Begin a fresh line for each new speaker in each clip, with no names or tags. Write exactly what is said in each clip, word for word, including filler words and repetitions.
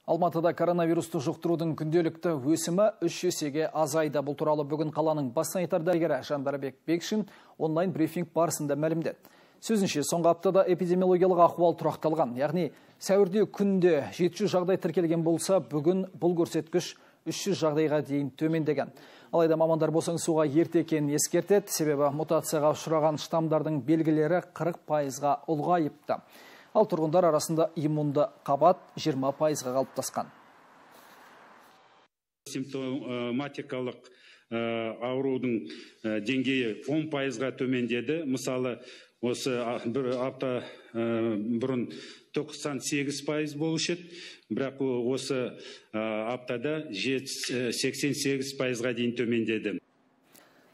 Алматыда коронавирусты жұқтырудың күнделікті өсімі үш есеге азайды. Бұл туралы бүгін қаланың бас санитар дәрігері Жандарбек Бекшин онлайн брифинг барысында мәлімдеді. Сөзінше, соңғы аптада эпидемиологиялық ахуал тұрақталған. Яғни, сәуірде күнде жеті жүз жағдай тіркелген болса, бүгін бұл көрсеткіш үш жүз жағдайға дейін төмендеген. Алайда мамандар босаңсуға ерте екенін ескертеді, себебі мутацияға ұшыраған штамдардың белгілері қырық пайызға ұлғайыпты. Ал тұрғындар арасында иммунды қабат жиырма пайызға қалыптасқан.
Симптоматикалық аурудың деңгейі он пайызға төмендеді. Мысалы, осы бір апта бұрын тоқсан сегіз пайыз болушы еді, бірақ осы аптада сексен сегіз пайызға дейін төмендеді.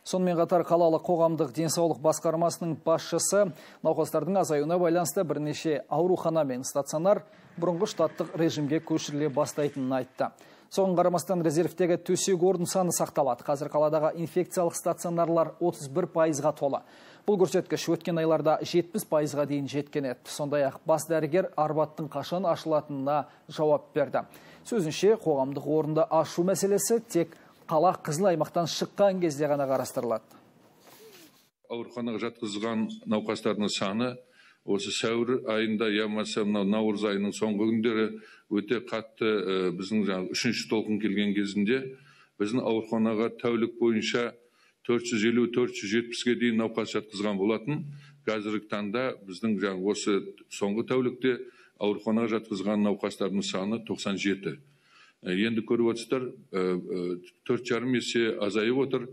Сонымен қатар қалалық қоғамдық денсаулық басқармасының басшысы науқастардың азаюына байланысты бірнеше аурухана мен стационар бұрынғы штаттық режимге көшіріле бастайтынын айтты. Соған қарамастан резервтегі төсек орын саны сақталады. Қазір қаладағы инфекциялық стационарлар отыз бір пайызға толы. Бұл көрсеткіш өткен айларда жетпіс пайызға дейін жеткен еді. Сондай-ақ бас дәрігер Арбаттың қашан ашылатынына жауап берді. Сөзінше, қоғамдық орынды ашу мәселесі тек қала қызыл аймақтан шыққан кезде ғана қарастырылады.
Ауруханаға жатқызылған науқастардың саны осы сәуір айында, ямаса наурыз айының соңғы күндері өте қатты біздің үшінші толқын келген кезінде біздің ауруханаға тәулік бойынша төрт жүз елу - төрт жүз жетпіске дейін науқас жатқызған болатын. Қазіргі таңда біздің осы соңғы тәулікте ауруханаға жатқызған науқастардың саны тоқсан жеті. Енді көріп отырсыздар, төрт жарым есе азайып отыр.